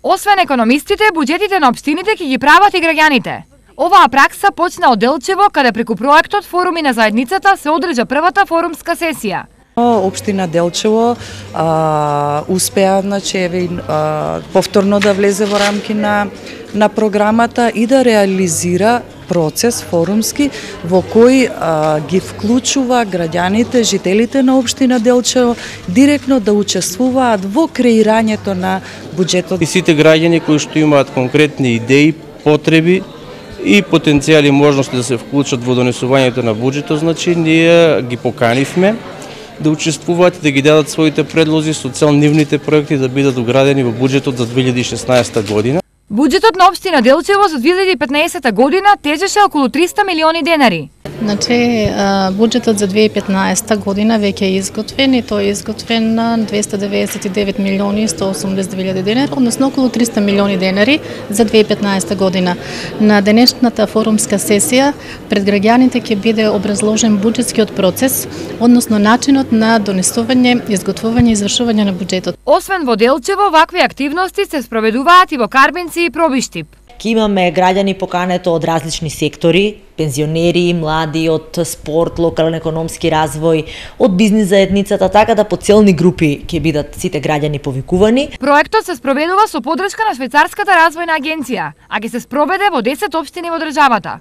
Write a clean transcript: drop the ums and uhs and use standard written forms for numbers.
Освен економистите, буџетите на општините ќе ги прават и граѓаните. Оваа пракса почна од Делчево, каде преку проектот Форуми на заедницата се одржа првата форумска сесија. Општина Делчево успеа повторно да влезе во рамки на програмата и да реализира процес форумски во кој ги вклучува граѓаните, жителите на општина Делчево директно да учествуваат во креирањето на буџетот. И сите граѓани кои што имаат конкретни идеи, потреби и потенцијали можности да се вклучат во донесувањето на буџетот, значи ние ги поканивме да учествуваат и да ги дадат своите предлози со цел нивните проекти да бидат уградени во буџетот за 2016 година. Буџетот на општина Делчево за 2015 година тежеше околу 300 милиони денари. Значи, буџетот за 2015 година веќе е изготвен и тој е изготвен на 299 милиони 182 денари, односно околу 300 милиони денари за 2015 година. На денешната форумска сесија пред граѓаните ќе биде образложен буџетскиот процес, односно начинот на донесување, изготвување и извршување на буџетот. Освен во Делчево, вакви активности се спроведуваат и во Карбенци и Пробиштип. Ке имаме граѓани покането од различни сектори, пензионери, млади, од спорт, локален економски развој, од бизнис заедницата, така да по целни групи ќе бидат сите граѓани повикувани. Проектот се спроведува со поддршка на Швајцарската развојна агенција, а ќе се спроведе во 10 општини во државата.